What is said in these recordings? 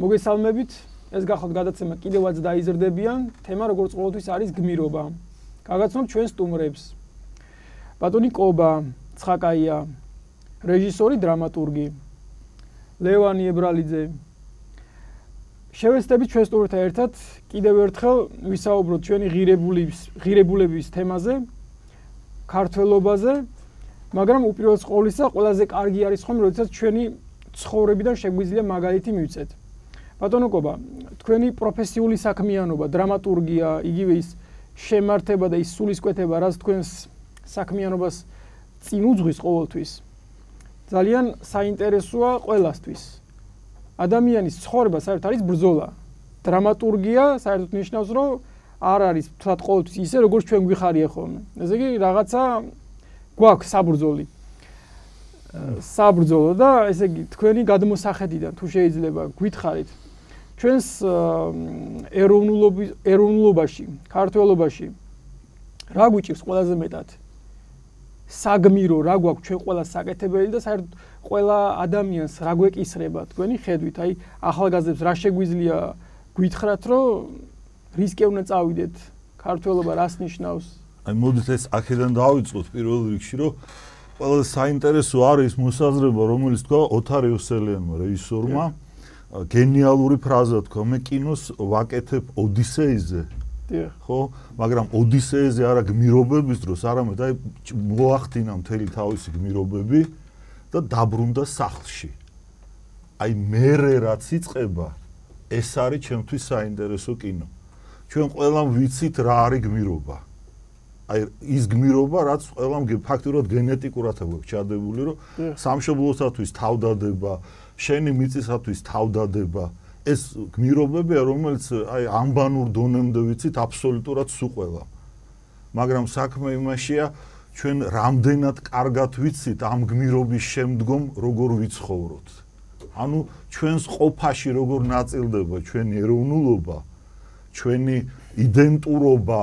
მოგესალმებით, ეს გახოთ გადაცემა კიდევაც დაიზრდებიან, თემა როგორც ყოველთვის არის გმირობა. გაგაცნობთ ჩვენ სტუმრებს. ბატონი კობა, ცხაკაია, რეჟისორი, დრამატურგი, ლევანი ებრალიძე. შევეცდებით ჩვენ სტუმრებთან ერთად კიდევ ერთხელ ვისაუბროთ ჩვენი ღირებულების თემაზე, ქართველობაზე, მაგრამ უპირველეს ყოვლისა ყველაზე კარგი არის ხომ, როდესაც ჩვენი ცხოვრებიდან შეგვიძლია მაგალითი მივცეთ. ბატონო კობა, თქვენი პროფესიული საქმიანობა, დრამატურგია, იგივე ის შემართება და ის სულისკვეთება, რაც თქვენს საქმიანობას წინ უძღვის ყოველთვის. ძალიან საინტერესოა ყველასთვის. ადამიანის ცხოვრება საერთოდ არის ბრძოლა. დრამატურგია საერთოდ ნიშნავს, რომ არ არის თქვათ ყოველთვის ისე, როგორც ჩვენ გვიხარია ხოლმე. ესე იგი, რაღაცა გვაქვს საბრძოლი. საბრძოლო და ესე იგი, თქვენი გადმოსახედიდან თუ შეიძლება გითხარით ჩვენს ეროვნულობაში, ქართველობაში რა გვიჭირს ყველაზე მეტად? საგმირო რა გვაქვს ჩვენ ყველა საკეთებელი და საერთოდ ყველა ადამიანს რა გვეკისრება თქვენი ხედვით? აი, ახალგაზრდებს რა შეგვიძლია გითხრათ, რომ რისკი უნდა წავიდეთ? ქართველობა რას ნიშნავს? აი, მოდით ეს აქედან დავიწყოთ პირველ რიგში, რომ ყველაზე საინტერესო არის მოსაზრება, რომელიც თქვა ოთარ იოსელიანმა, რეჟისორმა. გენიალური ფრაზა თქვა, მე კინოს ვაკეთებ ოდისეიზე. ხო, მაგრამ ოდისეიზე არა გმირობების დროს, არამედ აი მოახდინა მთელი თავისი გმირობები და დაბრუნდა სახლში. აი მერე რაც იწყება, ეს არის ჩემთვის საინტერესო კინო. ჩვენ ყველამ ვიცით რა არის გმირობა. აი ის გმირობა, რაც ყველამ ფაქტურად გენეტიკურად აქვს ჩადებული, რომ სამშობლოსათვის თავდადება, შენი მიწისათვის თავდადება, ეს გმირობებია, რომელიც აი ამბანურ დონემდე ვიცით აბსოლუტურად სულ ყველა. მაგრამ საქმე იმაშია, ჩვენ რამდენად კარგად ვიცით ამ გმირობის შემდგომ როგორ ვიცხოვროთ. ანუ ჩვენს ყოფაში როგორ ნაწილდება ჩვენი ეროვნულობა, ჩვენი იდენტურობა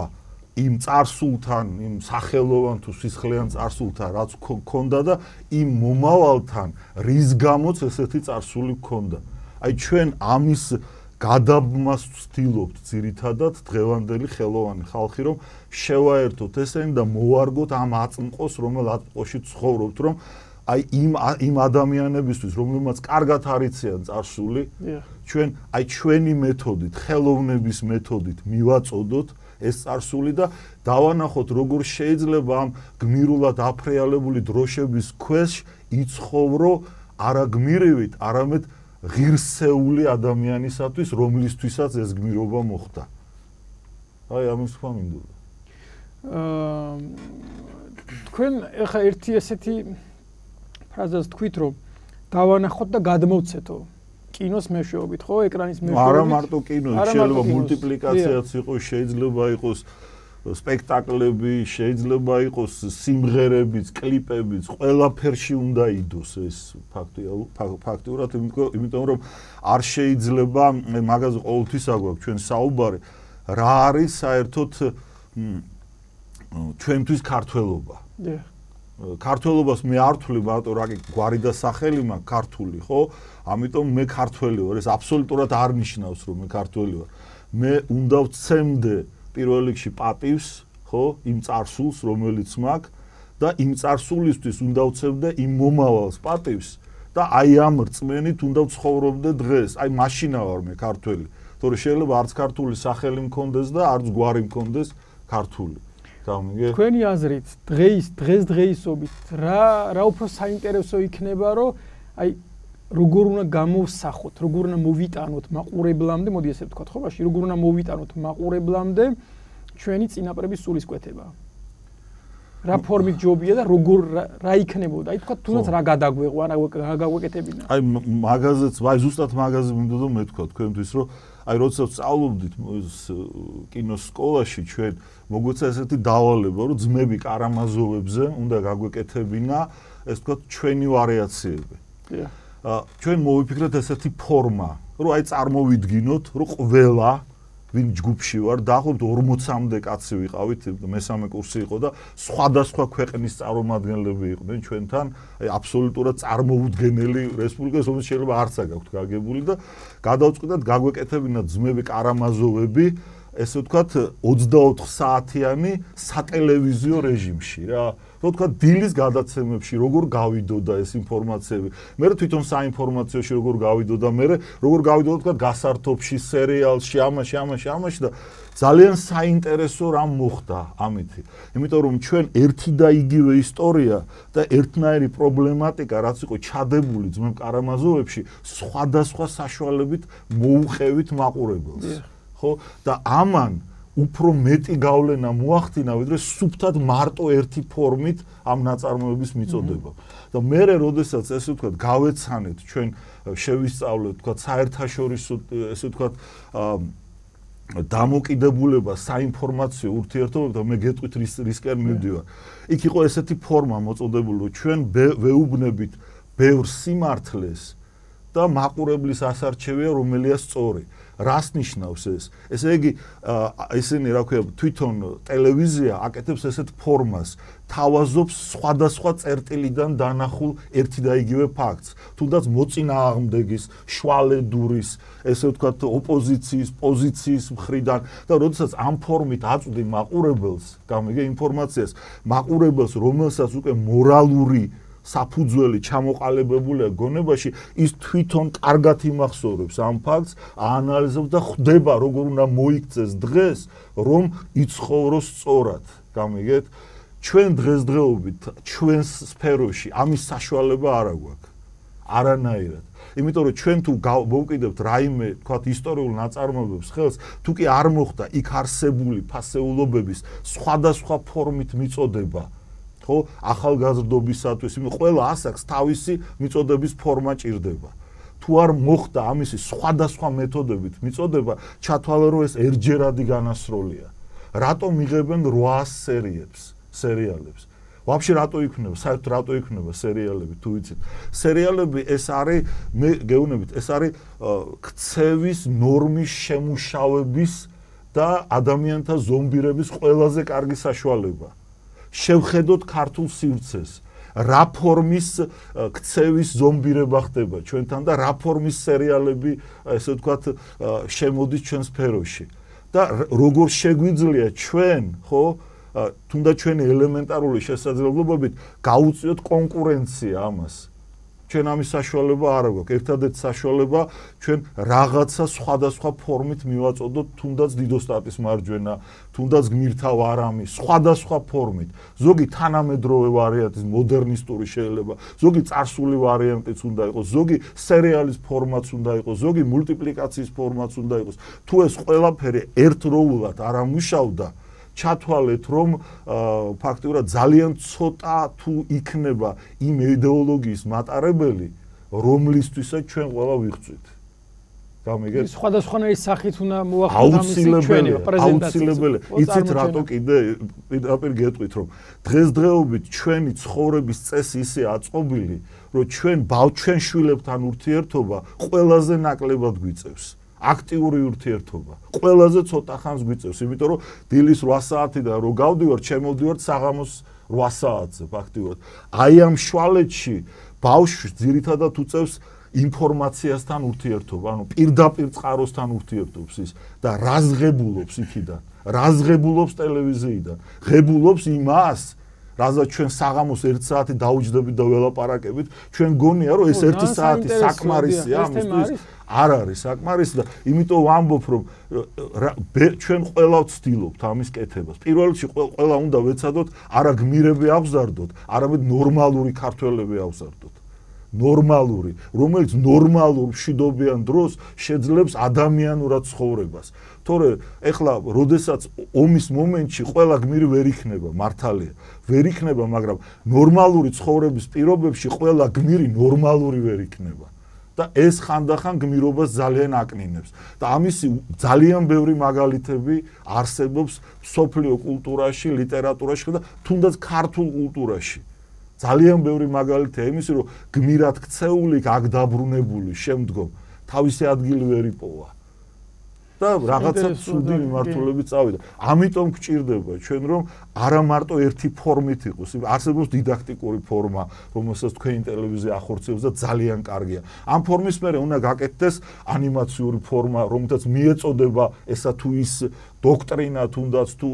იმ წარსულთან, იმ სახელოვან თუ სისხლიან წარსულთან, რაც გქონდა და იმ მომავალთან, რის გამოც ესეთი წარსული გქონდა. აი ჩვენ ამის გადაბმას ვცდილობთ ძირითადად დღევანდელი ხელოვანი ხალხი, რომ შევაერთოთ ესენი და მოვარგოთ ამ აწმყოს, რომელ აწმყოში ცხოვრობთ, რომ აი იმ ადამიანებისთვის, რომლებმაც კარგად არიციან წარსული, ჩვენ აი ჩვენი მეთოდით, ხელოვნების მეთოდით მივაწოდოთ ეს წარსული და დავანახოთ, როგორ შეიძლება ამ გმირულად აფრიალებული დროშების ქვეშ იცხოვრო არა გმირივით, არამედ ღირსეული ადამიანისათვის, რომლისთვისაც ეს გმირობა მოხდა. აი ამის თქვა მინდოდა. თქვენ ახლა ერთი ესეთი ფრაზას თქვით, რომ დავანახოთ და გადმოვცეთო. კინოს მეშვეობით, ხო, ეკრანის მეშვეობით. არა მარტო კინო, შეიძლება მულტიპლიკაციაც იყოს, შეიძლება იყოს სპექტაკლები, შეიძლება იყოს სიმღერებიც, კლიპებიც, ყველაფერში უნდა იდოს ეს ფაქტიურად, იმიტომ რომ არ შეიძლება მაგაზე ყოველთვის აგვაქვს ჩვენ საუბარი, რა არის საერთოდ ჩვენთვის ქართველობა. ქართველობას მე არ ვთვლი მარტო რა გვარი და სახელი მაქვს ქართული, ხო? ამიტომ მე ქართველი ვარ, ეს აბსოლუტურად არ ნიშნავს რომ მე ქართველი ვარ. მე უნდა ვცემდე პირველ რიგში პატივს, ხო, იმ წარსულს, რომელიც მაქვს და იმ წარსულისთვის უნდა ვცემდე იმ მომავალს პატივს და აი ამ რწმენით უნდა ვცხოვრობდე დღეს. აი მაშინა ვარ მე ქართველი. თორე შეიძლება არც ქართული სახელი მქონდეს და არც გვარი მქონდეს ქართული. თქვენი აზრით, დღესდღეობით რა უფრო საინტერესო იქნება, რომ აი როგორ უნდა გამოვსახოთ, როგორ უნდა მოვიტანოთ მაყურებლამდე, მოდი ესე ვთქვათ, ხო, ბაში, როგორ უნდა მოვიტანოთ მაყურებლამდე ჩვენი წინაპრების სულისკვეთება. რა ფორმით ჯობია და როგორ რა იქნებოდა? აი თქვა თუნდაც რა გადაგვეყო, რა გაგვეკეთებინა? აი მაგაზეც, აი ზუსტად მაგაზე მინდოდა მე თქვა თქვენთვის, რომ აი როდესაც სწავლობდით კინოს სკოლაში ჩვენ მოგვეცა ესეთი დავალება, რომ ძმები კარამაზოვებზე უნდა გაგვეკეთებინა, ეს თქვა ჩვენი ვარიაციები. ჩვენ მოვიფიქრეთ ესეთი ფორმა, რომ აი წარმოვიდგინოთ, რომ ყველა ვინ ჯგუფში ვარ, დაახლოებით 40-მდე კაცი ვიყავით, მესამე კურსი იყო და სხვადასხვა ქვეყნის წარმომადგენლები იყვნენ ჩვენთან, აი აბსოლუტურად წარმოუდგენელი რესპუბლიკა, რომელიც შეიძლება არც აქვს გაგებული და გადავწყვიტეთ გაგვეკეთებინათ ძმები კარამაზოვები, ესე ვთქვათ 24 საათიანი სატელევიზიო რეჟიმში რა. ვთქვათ დილის გადაცემებში როგორ გავიდოდა ეს ინფორმაციები. მე თვითონ საინფორმაციოში როგორ გავიდოდა, მე როგორ გავიდოდა ვთქვათ გასართობში, სერიალში, ამაში და ძალიან საინტერესო რამ მოხდა ამითი. იმიტომ რომ ჩვენ ერთი და იგივე ისტორია და ერთნაირი პრობლემატიკა რაც იყო ჩადებული ძმებ კარამაზოვებში, სხვადასხვა საშუალებით მოუხევით მაყურებელს. ხო და ამან უფრო მეტი გავლენა მოახდინა ვიდრე სუფთად მარტო ერთი ფორმით ამ ნაწარმოების მიწოდება. და მე როდესაც ესე ვთქვათ გავეცანეთ ჩვენ შევისწავლეთ ვთქვათ საერთაშორისო ესე ვთქვათ დამოკიდებულება საინფორმაციო ურთიერთობებთან და მე გეტყვით რისკენ მივდივარ. იქ იყო ესეთი ფორმა მოწოდებული რომ ჩვენ ვეუბნებით ბევრ სიმართლეს და მაყურებლის ასარჩევია რომელია სწორი. რას ნიშნავს ეს? ესე იგი ესენი რა ქვია თვითონ ტელევიზია აკეთებს ესეთ ფორმას, თავაზობს სხვადასხვა წერტილიდან დანახულ ერთი და იგივე ფაქტს, თუნდაც მოწინააღმდეგის, შვალედურის, ესე ვთქვათ ოპოზიციის პოზიციის მხრიდან და როდესაც ამ ფორმით აწვდი მაყურებელს, გამიგე ინფორმაციას, მაყურებელს, რომელსაც უკვე მორალური საფუძველი ჩამოყალიბებულია გონებაში, ის თვითონ კარგად იმახსოვრებს ამ ფაქტს, აანალიზებს და ხვდება როგორ უნდა მოიქცეს დღეს, რომ იცხოვროს სწორად. გამიგეთ? ჩვენ დღესდღეობით ჩვენს სფეროში ამის საშუალება არ აქვს. არანაირად. იმიტომ რომ ჩვენ თუ მოვკიდებთ რაიმე, თქვათ ისტორიულ ნაწარმოებებს ხელს, თუ კი არ მოხდა იქ არსებული ფასეულობების სხვადასხვა ფორმით მიწოდება ხო ახალგაზრდობისათვის იმ ყველა ასაკს თავისი მიწოდების ფორმა ჭირდება. თუ არ მოხდა ამისი სხვადასხვა მეთოდებით მიწოდება, ჩათვალე რომ ეს ერთჯერადი განასროლია. რატომ იღებენ 800 სერიალებს? ვაფშე რატო იქნება? საერთოდ რატო იქნება სერიალები თუ ვიცით? სერიალები ეს არის მე გეუბნებით, ეს არის ქცევის ნორმის შემუშავების და ადამიანთა ზომბირების ყველაზე კარგი საშუალება. შევხედოთ ქართულ სივრცეს, რა ფორმის ქცევის ზომბირება ხდება ჩვენთან და რა ფორმის სერიალები, ესე ვთქვათ, შემოდის ჩვენ სფეროში. და როგორ შეგვიძლია ჩვენ, ხო, თუნდაც ჩვენი ელემენტარული შესაძლებლობებით გაუწიოთ კონკურენცია ამას. ჩვენ ამის საშუალება არ აქვს. ერთადერთი საშუალება ჩვენ რაღაცა სხვადასხვა ფორმით მივაწოდოთ, თუნდაც დიდოსტატის მარჯვენა, თუნდაც გმირთა ვარამი, სხვადასხვა ფორმით. ზოგი თანამედროვე ვარიანტის მოდერნისტური შეიძლება, ზოგი წარსული ვარიანტიც უნდა იყოს, ზოგი სერიალის ფორმაც უნდა იყოს, ზოგი მულტიპლიკაციის ფორმაც უნდა იყოს. თუ ეს ყველაფერი ერთდროულად არ ამუშავდა, ჩათვალეთ რომ ფაქტიურად ძალიან ცოტა თუ იქნება იმ იდეოლოგიის მატარებელი, რომლისთვისაც ჩვენ ყველა ვიღწვით. გამიგეთ? სხვადასხვანაირი სახით უნდა მოახდინოთ ამისი ჩვენი პრეზენტაცია. აუცილებელია. იცით რატო კიდე პირდაპირ გეტყვით რომ დღესდღეობით ჩვენი ცხოვრების წესი ისე აწყობილი, რომ ჩვენ ბავშვენ შვილებთან ურთიერთობა ყველაზე ნაკლებად გვიწევს. აქტიური ურთიერთობა. ყველაზე ცოტა ხანს გვიწევს, იმიტომ რომ დილის 8 საათიდან რო გავდივარ, შემოვდივარ საღამოს 8 საათზე ფაქტიურად. აი ამ შვალეთში ბავშვს ძირითადად უწევს ინფორმაციასთან ურთიერთობა, ანუ პირდაპირ წყაროსთან ურთიერთობს ის და რას ღებულობს იქიდან, რას ღებულობს ტელევიზიიდან, ღებულობს იმას, რაზეც ჩვენ საღამოს 1 საათი დაუჯდებით და ველაპარაკებით, ჩვენ გონია რომ ეს 1 საათი საკმარისია ამისთვის. არ არის საკმარისი და იმიტომ ვამბობ რომ ჩვენ ყველა ვცდილობთ ამის კეთებას. პირველ რიგში ყველა უნდა ვეცადოთ არა გმირები აღზარდოთ, არამედ ნორმალური ქართველები აღზარდოთ. ნორმალური, რომელიც ნორმალურ მშვიდობიან დროს შეძლებს ადამიანურად ცხოვრებას. თორე ეხლა როდესაც ომის მომენტში ყველა გმირი ვერ იქნება, მართალია, ვერ იქნება, მაგრამ ნორმალური ცხოვრების პირობებში ყველა გმირი ნორმალური ვერ იქნება. და ეს ხანდახან გმირობას ძალიან აკნინებს. და ამისი ძალიან ბევრი მაგალითები არსებობს სოფლიო კულტურაში, ლიტერატურაში და თუნდაც ქართულ კულტურაში. ძალიან ბევრი მაგალითია იმისი, რომ გმირად ქცეული, აქ დაბრუნებული, შემდგომ თავისი ადგილი ვერ იპოვა. და რაღაცა ცუდი მიმართულებით წავიდა. ამიტომ გვჭირდება ჩვენ რომ არა მარტო ერთი ფორმით იყოს, არსებობს დიდაქტიკური ფორმა, რომელსაც თქვენი ტელევიზია ახორციელებს და ძალიან კარგია. ამ ფორმის მერე უნდა გაკეთდეს ანიმაციური ფორმა, რომელთაც მიეწოდება ესა თუ ის დოქტრინა თუნდაც თუ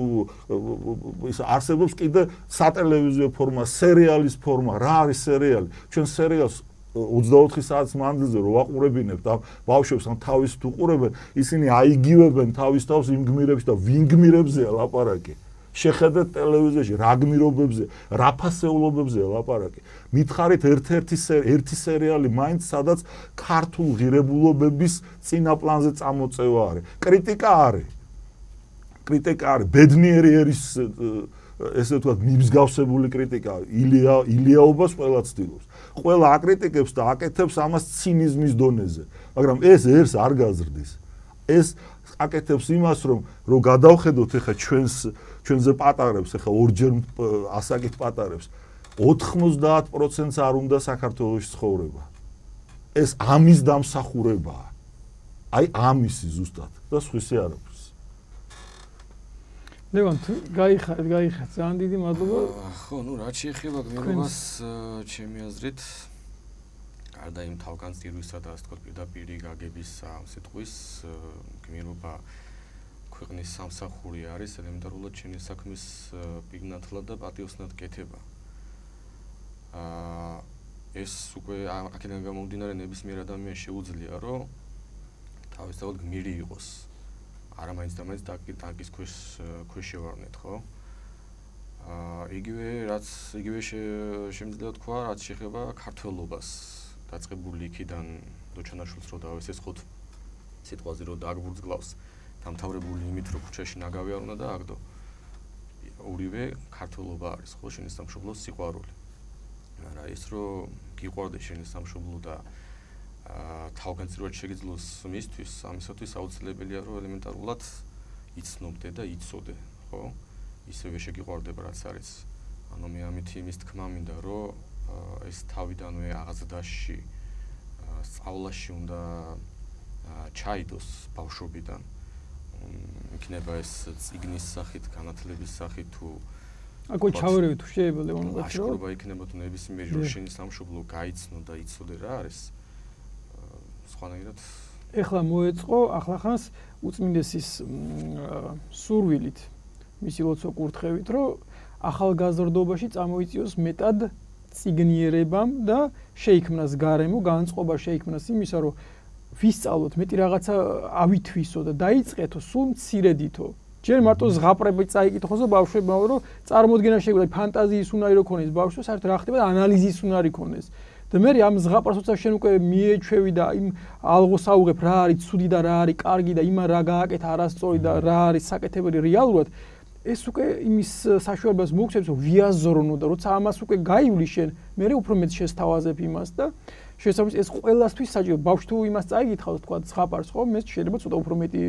ის არსებობს კიდე სატელევიზიო ფორმა, სერიალის ფორმა, რა არის სერიალი? ჩვენ სერიალს 24 საათის მანძილზე რო ვაყურებინებთ ამ ბავშვებს ან თავის თუ ყურებენ, ისინი აიგივებენ თავის თავს იმ გმირებში და ვინ გმირებზეა ლაპარაკი. შეხედეთ ტელევიზიაში რა გმირობებზე, რა ფასეულობებზეა ლაპარაკი. მითხარით ერთი სერიალი მაინც სადაც ქართულ ღირებულობების წინაპლანზე წამოწევა არის. კრიტიკა არის. ბედნიერი ერის ესე ვთქვათ მიმსგავსებული კრიტიკა, ილიაობას ყველა ცდილობს. ყველა აკრიტიკებს და აკეთებს ამას ცინიზმის დონეზე. მაგრამ ეს ერს არ გაზრდის. ეს აკეთებს იმას, რომ გადავხედოთ ახლა ჩვენზე პატარებს, ახლა ორჯერ ასაკით პატარებს, 90% არ უნდა საქართველოში ცხოვრება. ეს ამის დამსახურებაა. აი ამისი ზუსტად და სხვისი არ აქვს. ლევან, გაიხარეთ, ძალიან დიდი მადლობა. ხო, რაც შეეხება გმირობას, ჩემი აზრით, გარდა იმ თავგანწირვისა და ასე ვთქვათ, პირდაპირ გაგების სიტყვის, გმირობა ქვეყნის სამსახური არის, ელემენტარულად ჩვენი საქმის პიგნათლად და პატიოსნად კეთება. ეს უკვე აქედან გამომდინარე ნებისმიერ ადამიანს შეუძლია, რომ თავისთავად გმირი იყოს. არა მაინც და მაინც ტანკის ქვეშ შევარნეთ, ხო? იგივე შემიძლია თქვა, რაც შეეხება ქართველობას, დაწყებული იქიდან დოჩანაშვილს რო დავესესხოთ სიტყვაზე რო დააგვურძგლავს, დამთავრებული იმით, რომ ქუჩაში ნაგავი არ უნდა დააგდო. ორივე ქართველობა არის, ხო, შენი სამშობლოს სიყვარული. არა ის რომ გიყვარდეს შენი სამშობლო და თავგანწირვად შეგიძლოს მისთვის, ამისათვის აუცილებელია რომ ელემენტარულად იცნობდე და იცოდე, ხო? ისევე შეგიყვარდება რაც არის. ანუ მე ამით იმის თქმა მინდა, რომ ეს თავიდანვე აღზრდაში, სწავლაში უნდა ჩაიდოს ბავშვობიდან. იქნება ეს წიგნის სახით, განათლების სახით თუ აკო ჩავერევით თუ შეიძლება ლევან კაცო. აშკარობა იქნება თუ ნებისმიერი რომ შენი სამშობლო გაიცნო და იცოდე რა არის. სხვანაირად ეხლა მოეწყო ახლახანს უწმინდესის სურვილით მისი ლოცვა კურთხევით რომ ახალგაზრდობაში წამოიწიოს მეტად წიგნიერებამ და შეიქმნას გარემო, განწყობა შეიქმნას იმისა რომ ვისწავლოთ მეტი რაღაცა ავითვისო და დაიწყეთო სულ მცირედითო. ჯერ მარტო ზღაპრები წაიკითხოს და ბავშვებმა რომ წარმოდგენა შეგვიძლია ფანტაზიის უნარი რო ქონეს ბავშვს, საერთოდ რა ხდება ანალიზის უნარი ქონეს. და მე ამ ზღაპრას როცა შენ უკვე მიეჩვევი და იმ ალღოს აუღებ რა არის ცუდი და რა არის კარგი და იმან რა გააკეთა არასწორი და რა არის საკეთებელი რეალურად ეს უკვე იმის საშუალებას მოგცემს რომ ვიაზრონო და როცა ამას უკვე გაივლი შენ მე უფრო მეტ შესთავაზებ იმას და შესაბამისად ეს ყველასთვის საჭირო ბავშვი თუ იმას წაიგითხავს თქვა ზღაპარს ხო მე შეიძლება ცოტა უფრო მეტი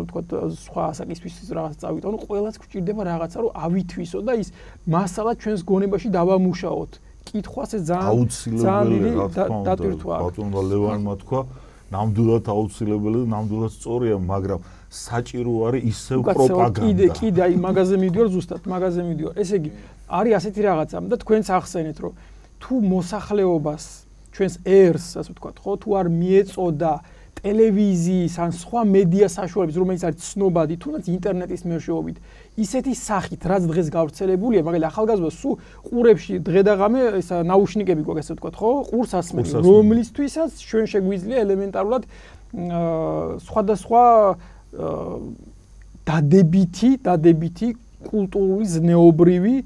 თქვა სხვა ასაკისთვის რაღაც წავიტანო ყველას გვჭირდება რაღაცა რომ ავითვისო და ის მასალა ჩვენს გონებაში დავამუშაოთ კითხვას ეს აუცილებელი დატვირთვა. ბატონმა ლევანმა თქვა, ნამდვილად აუცილებელი და ნამდვილად სწორია, მაგრამ საჭირო არის ისევ პროპაგანდა. კიდე აი მაგაზე მიდიوار ზუსტად, მაგაზე მიდიوار. ესე იგი, არის ასეთი რაღაცა და თქვენც ახსენეთ, რომ თუ მოსახლეობას ჩვენს ერს, ასე ვთქვათ, ხო, თუ არ მიეწოდა ტელევიზიის ან სხვა მედია საშუალების, რომელიც არის ცნობადი, თუნდაც ინტერნეტის მეშვეობით, ისეთი სახით, რაც დღეს გავრცელებულია, მაგალითად ახალგაზრდა სულ ყურებში დღე და ღამე ესა ნაუშნიკები გვაქვს, ასე ვთქვათ, ხო? ყურს ასმენს, რომლისთვისაც ჩვენ შეგვიძლია ელემენტარულად სხვადასხვა დადებითი კულტურული ზნეობრივი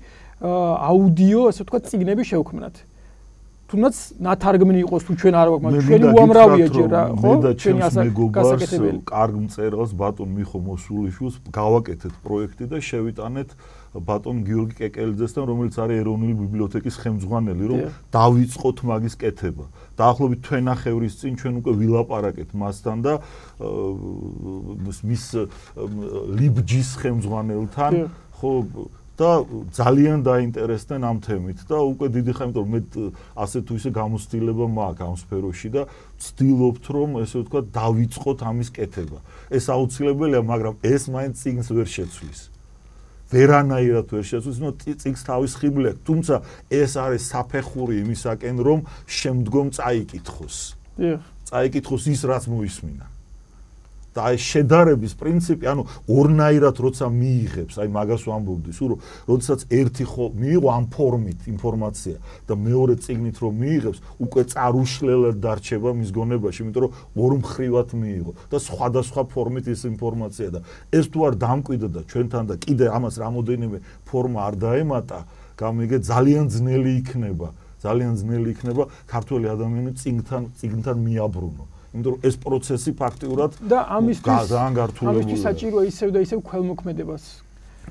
აუდიო, ასე ვთქვათ, წიგნები შევქმნათ. თუნდაც ნათარგმნი იყოს თუ ჩვენ არ გვაქვს, მაგრამ ჩვენი უამრავია ჯერ რა, ხო? ჩვენი გასაკეთებელი. კარგ მწერალს ბატონ მიხო მოსულიშვილს გავაკეთეთ პროექტი და შევიტანეთ ბატონ გიორგი კეკელიძესთან, რომელიც არის ეროვნული ბიბლიოთეკის ხელმძღვანელი, რომ დავიწყოთ მაგის კეთება. დაახლოებით თვენახევრის წინ ჩვენ უკვე ვილაპარაკეთ მასთან და მის ლიბჯის ხელმძღვანელთან, ხო და და ძალიან დაინტერესდნენ ამ თემით და უკვე დიდი ხანი, იმიტომ რომ მე ასე თუ ისე გამოცდილება მაქვს ამ სფეროში და ვცდილობთ რომ ესე ვთქვათ დავიწყოთ ამის კეთება. ეს აუცილებელია, მაგრამ ეს მაინც წიგნს ვერ შეცვლის. ვერანაირად ვერ შეცვლის, წიგნს თავის ხიბლი აქვს, თუმცა ეს არის საფეხური იმისაკენ რომ შემდგომ წაიკითხოს. წაიკითხოს ის რაც მოისმინა. და აი შედარების პრინციპი, ანუ ორნაირად როცა მიიღებს, აი მაგას ვამბობდი, სულ როდესაც ერთი მიიღო ამ ფორმით ინფორმაცია და მეორე წიგნით რომ მიიღებს, უკვე წარუშლელად დარჩება მის გონებაში, იმიტომ რომ ორმხრივად მიიღო და სხვადასხვა ფორმით ის ინფორმაცია და ეს თუ არ დამკვიდრდა და ჩვენთან და კიდე ამას რამოდენიმე ფორმა არ დაემატა, გამიგე ძალიან ძნელი იქნება ქართველი ადამიანი წიგნთან მიაბრუნო. იმიტომ რომ ეს პროცესი ფაქტიურად და ამისთვის ძალიან გართულებულია. ამისთვის საჭიროა ისევ და ისევ ქველმოქმედებას.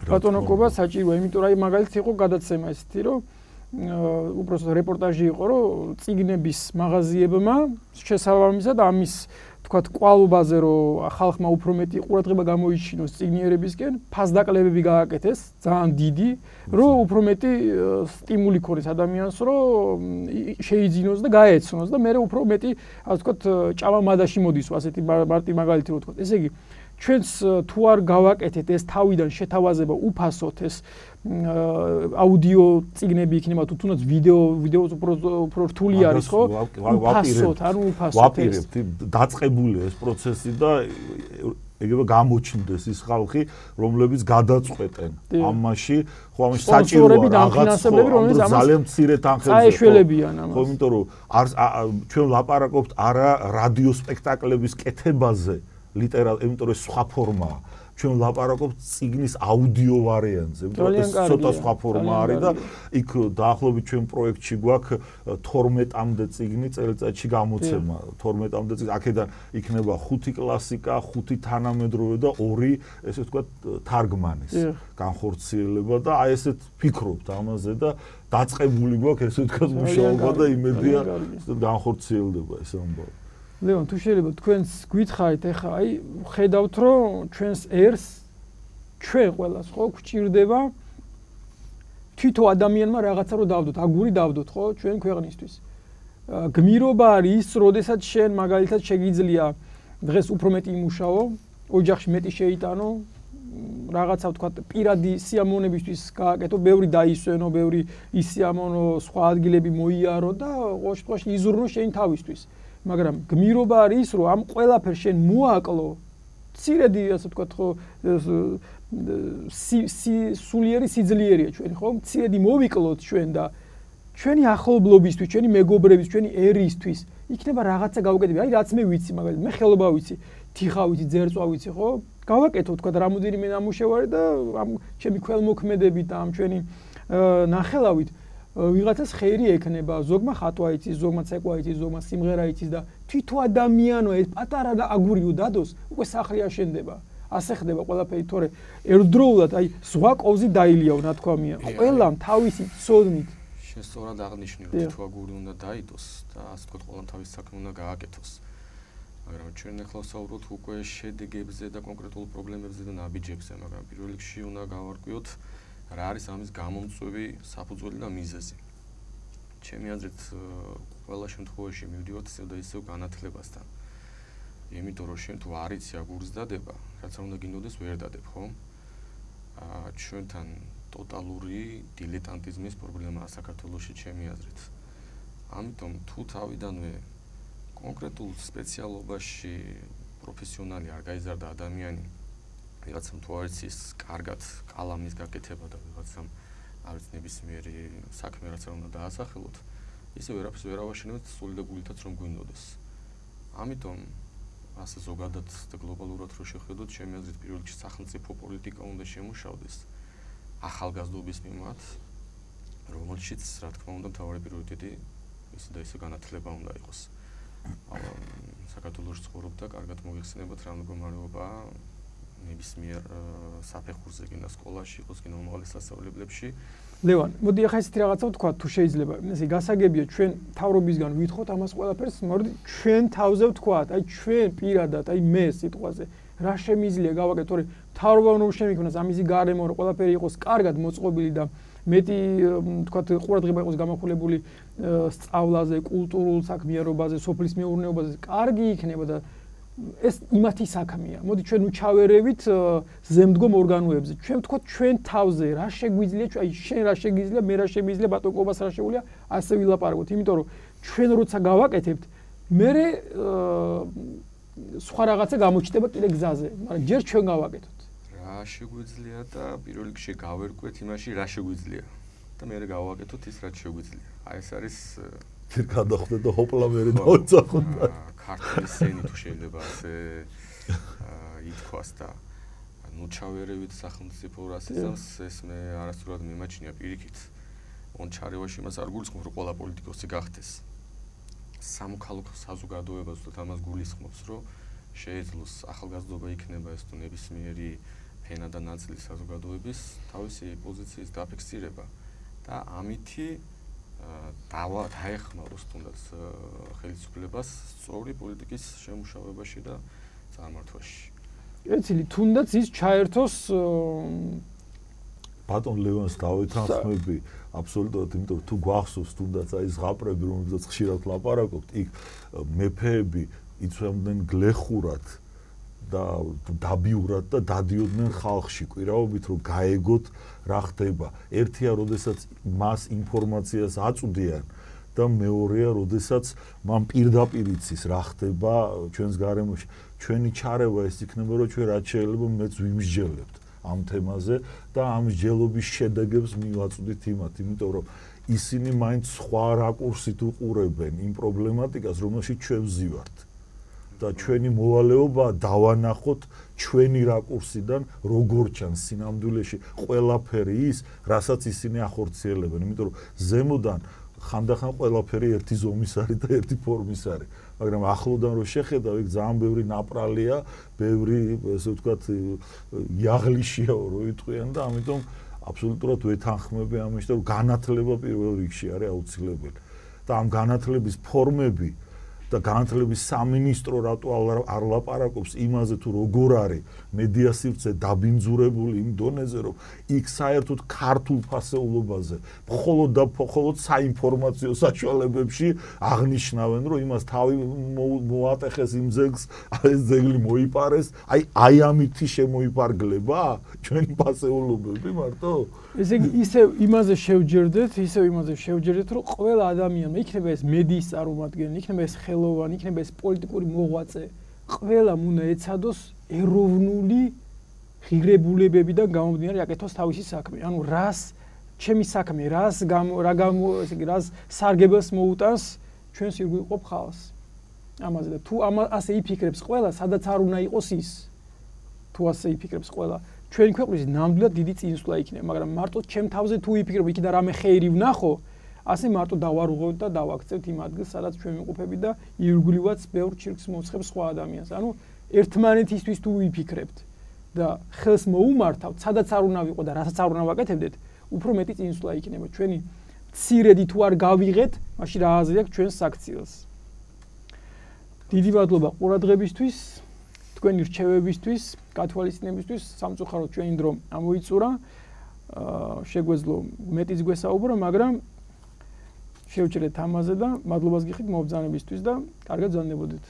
ბატონოკობა საჭიროა, იმიტომ რომ აი მაგალითად იყო გადაცემა ესეთი, რომ უბრალოდ რეპორტაჟი იყო, რომ წიგნების მაღაზიებმა შესაბამისად ამის თქვათ კვალობაზე, რომ ხალხმა უფრო მეტი ყურადღება გამოიჩინოს წიგნიერებისკენ, ფასდაკლებები გააკეთეს, ძალიან დიდი, რომ უფრო მეტი სტიმული ქონდეს ადამიანს, რომ შეიძინოს და გაეცნოს და მე უფრო მეტი, ასე ვთქვათ, ჭამა მადაში მოდის, ასეთი მარტივი მაგალითი რო ვთქვათ. ესე იგი, ჩვენს თუ არ გავაკეთეთ ეს თავიდან შეთავაზება უფასოდ ეს აუდიო წიგნები იქნება თუ თუნდაც ვიდეო უფრო რთული არის ხო? უფასოდ, ანუ უფასოდ. ვაპირებთ, დაწყებულია ეს პროცესი და ეგრევე გამოჩნდეს ის ხალხი, რომლებიც გადაწყვეტენ ამაში, ხო ამაში საჭიროა რაღაც ძალიან მცირე თანხებზე. წაეშველებიან ამას. ხო, იმიტომ რომ ჩვენ ლაპარაკობთ არა რადიო სპექტაკლების კეთებაზე, იმიტომ რომ სხვა ფორმაა. ჩვენ ლაპარაკობთ წიგნის აუდიო ვარიანტზე, იმიტომ რომ ეს ცოტა სხვა ფორმა არის და იქ დაახლოებით ჩვენ პროექტში გვაქვს 12-მდე წიგნი წელიწადში გამოცემა. 12-მდე წიგნი, აქედან იქნება 5 კლასიკა, 5 თანამედროვე და 2 ესე ვთქვათ თარგმანის განხორციელება და აი ესეთ ფიქრობთ ამაზე და დაწყებული გვაქვს ესე ვთქვათ მუშაობა და იმედია განხორციელდება ეს ამბავი. ლევან, თუ შეიძლება თქვენს გითხარით, ეხლა აი ხედავთ, რომ ჩვენს ერს ჩვენ ყველას ხო გვჭირდება თვითო ადამიანმა რაღაცა რო დავდოთ, აგური დავდოთ, ხო, ჩვენ ქვეყნისთვის. გმირობა არის ის, როდესაც შენ მაგალითად შეგიძლია დღეს უფრო მეტი იმუშაო, ოჯახში მეტი შეიტანო, რაღაცა ვთქვათ, პირადი სიამოვნებისთვის გააკეთო, ბევრი დაისვენო, ბევრი ისიამოვნო, სხვა ადგილები მოიარო და ყოველ შემთხვევაში იზრუნო შენ თავისთვის. მაგრამ გმირობა არის ის, რომ ამ ყველაფერს შენ მოაკლო, მცირედი, ასე ვთქვათ, ხო, სულიერი სიძლიერია ჩვენ, ხო? მცირედი მოვიკლოთ ჩვენ და ჩვენი ახლობლობისთვის, ჩვენი მეგობრების, ჩვენი ერისთვის იქნება რაღაცა გავუკეთები. აი, რაც მე ვიცი, მაგალითად, მე ხელობა ვიცი, თიხა ვიცი, ძერწვა ვიცი, ხო? გავაკეთო, ვთქვათ, რამოდენიმე ნამუშევარი და ამ ჩემი ქველმოქმედებით და ამ ჩვენი ნახელავით ვიღაცას ხერი ექნება, ზოგმა ხატვა იცის, ზოგმა ცეკვა იცის, ზოგმა სიმღერა იცის და თვითო ადამიანო ეს პატარა აგურიო დადოს, უკვე სახლი აშენდება. ასე ხდება ყველაფერი, თორე ერთდროულად აი ზღვა კოვზი დაილიაო, ნათქვამია. ყველამ თავისი ცოდნით. შენ სწორად აღნიშნე, რომ თვითო აგური უნდა დაიდოს და ასე ვთქვათ, ყველამ თავის საქმე უნდა გააკეთოს. მაგრამ ჩვენ ახლა ვსაუბრობთ უკვე შედეგებზე და კონკრეტულ პრობლემებზე და ნაბიჯებზე, მაგრამ პირველ რიგში უნდა გავარკვიოთ რა არის ამის გამომწვევი საფუძველი და მიზეზი. ჩემი აზრით, ყველა შემთხვევაში მივდივართ ისევ და ისევ განათლებასთან. იმიტომ რომ შენ თუ არ იცი აგურის დადება, რაც არ უნდა გინდოდეს ვერ დადებ, ხო? ჩვენთან ტოტალური დილეტანტიზმის პრობლემაა საქართველოში, ჩემი აზრით. ამიტომ თუ თავიდანვე კონკრეტულ სპეციალობაში პროფესიონალი არ გაიზარდა ადამიანი, ვიღაცამ თუ არ იცის კარგად კალამის გაკეთება და ვიღაცამ არ იცის ნებისმიერი საქმე რაც არ უნდა დაასახელოთ, ისე ვერაფერს ვერ ავაშენებთ სული და გულითაც რომ გვინდოდეს. ამიტომ ასე ზოგადად და გლობალურად რო შევხედოთ, ჩემი აზრით პირველ რიგში სახელმწიფო პოლიტიკა უნდა შემუშავდეს ახალგაზრდობის მიმართ, რომელშიც რა თქმა უნდა მთავარი პრიორიტეტი ისე და ისე განათლება უნდა იყოს. საქართველოში ცხოვრობ და კარგად მოიხსენებათ რა მდგომარეობაა ნებისმიერ საფეხურზე გინდა სკოლაში, იყოს გინდა უმაღლეს სასწავლებლებში. ლევან, მოდი ახლა ესეთი რაღაცა ვთქვა, თუ შეიძლება. ესე გასაგებია ჩვენ თავრობისგან ვითხოვთ ამას ყველაფერს, მოდი ჩვენ თავზე ვთქვათ, აი ჩვენ პირადად, აი მე სიტყვაზე, რა შემიძლია გავაკეთოთ, თორე მთავრობა რომ შემიქმნას ამისი გარემო რომ ყველაფერი იყოს კარგად მოწყობილი და მეტი თქვათ ყურადღება იყოს გამახვილებული სწავლაზე, კულტურულ საქმიანობაზე, სოფლის მეურნეობაზე, კარგი იქნება და ეს იმათი საქმეა. მოდი ჩვენ უჩავერევით ზემდგომ ორგანოებზე. ჩვენ ვთქვათ ჩვენ თავზე რა შეგვიძლია, აი შენ რა შეგიძლია, მე რა შემიძლია, ბატონ კობას რა შეუძლია, ასე ვილაპარაკოთ. იმიტომ რომ ჩვენ როცა გავაკეთებთ, მე სხვა რაღაცა გამოჩნდება კიდე გზაზე, მაგრამ ჯერ ჩვენ გავაკეთოთ. რა შეგვიძლია და პირველ რიგში გავერკვეთ იმაში რა შეგვიძლია და მე გავაკეთოთ ის რაც შეგვიძლია. აი ეს არის გადახვდე და ჰოპლა მე დავწახოთ. ქართლის სენი თუ შეიძლება ასე ითქვას და ნუ ჩავერევით სახელმწიფო რასიზმს, ეს მე არასდროს მიმაჩნია პირიქით. ჩარევაში მას არ გულისხმობს რომ ყველა პოლიტიკოსი გახდეს. სამოქალაქო საზოგადოებას და ამას გულისხმობს რომ შეეძლოს ახალგაზრდობა იქნება ეს თუ ნებისმიერი ფენა და ნაწილი საზოგადოების თავისი პოზიციის დაფიქსირება და ამითი დაეხმაროს თუნდაც ხელისუფლებას სწორი პოლიტიკის შემუშავებაში და წარმართვაში. ეცილი თუნდაც ის ჩაერთოს ბატონ ლევანს დავითანხმები აბსოლუტურად, იმიტომ რომ თუ გვახსოვს თუნდაც აი ზღაპრები რომელზეც ხშირად ლაპარაკობთ, იქ მეფეები იცვამდნენ გლეხურად და დაბიურად და დადიოდნენ ხალხში კვირაობით რომ გაეგოთ რა ხდება. ერთია, როდესაც მას ინფორმაციას აწვდიან და მეორეა, როდესაც მან პირდაპირ იცის რა ხდება ჩვენს გარემოში. ჩვენი ჩარევა ეს იქნება, რომ ჩვენ რაც შეიძლება მეც ვიმსჯელებთ ამ თემაზე და ამ მსჯელობის შედეგებს მივაწვდით იმათ, იმიტომ რომ ისინი მაინც სხვა რაკურსით უყურებენ იმ პრობლემატიკას, რომელშიც ჩვენ ვზივართ. და ჩვენი მოვალეობა დავანახოთ ჩვენი რაკურსიდან როგორ ჩანს სინამდვილეში ყველაფერი ის, რასაც ისინი ახორციელებენ, იმიტომ რომ ზემოდან ხანდახან ყველაფერი ერთი ზომის არის და ერთი ფორმის არის, მაგრამ ახლოდან რო შეხედავ, იქ ძალიან ბევრი ნაპრალია, ბევრი ესე ვთქვათ იაღლიშია რო იტყვიან და ამიტომ აბსოლუტურად ვეთანხმები ამაში, რომ განათლება პირველ რიგში არის აუცილებელი. და ამ განათლების ფორმები და განათლების სამინისტრო რატო არ ლაპარაკობს იმაზე თუ როგორ არის მედია სივრცე დაბინძურებული იმ დონეზე რომ იქ საერთოდ ქართულ ფასეულობაზე მხოლოდ საინფორმაციო საშუალებებში აღნიშნავენ რომ იმას თავი მოატეხეს იმ ძეგლს, ეს ძეგლი მოიპარეს, აი ამითი შემოიპარგლება ჩვენი ფასეულობები მარტო. ესე იგი ისევ იმაზე შევჯერდეთ, რომ ყველა ადამიანმა იქნება ეს მედიის წარმომადგენელი, იქნება ეს ხელოვანი, იქნება ეს პოლიტიკური მოღვაწე, ყველამ უნდა ეცადოს ეროვნული ღირებულებებიდან გამომდინარე აკეთოს თავისი საქმე. ანუ რას ჩემი საქმე, რას სარგებელს მოუტანს ჩვენს ირგვლივ ხალხს. ამაზე და თუ ასე იფიქრებს ყველა, სადაც არ უნდა იყოს ის. თუ ასე იფიქრებს ყველა, ჩვენი ქვეყნის ნამდვილად დიდი წინსვლა იქნება, მაგრამ მარტო ჩემ თავზე თუ იფიქრებ, იქიდან რამე ხეირი ვნახო, ასე მარტო დავარღვევთ და დავაქცევთ იმ ადგილს, სადაც ჩვენ ვიყოფებით და ირგვლივაც ბევრ ჩირკს მოცხებს სხვა ადამიანს. ანუ ერთმანეთისთვის თუ ვიფიქრებთ და ხელს მოუმართავთ, სადაც არ უნდა ვიყო და რასაც არ უნდა ვაკეთებდეთ, უფრო მეტი წინსვლა იქნება. ჩვენი მცირედი თუ არ გავიღეთ, მაშინ რა აზრი აქვს ჩვენს საქციელს. დიდი მადლობა ყურადღებისთვის, თქვენი რჩევებისთვის, გათვალისწინებისთვის, სამწუხაროდ ჩვენი დრო ამოიწურა. შეგვეძლო მეტიც გვესაუბრო, მაგრამ შევჭრეთ ამაზე და მადლობას გიხდით მობრძანებისთვის და კარგად ბრძანდებოდეთ.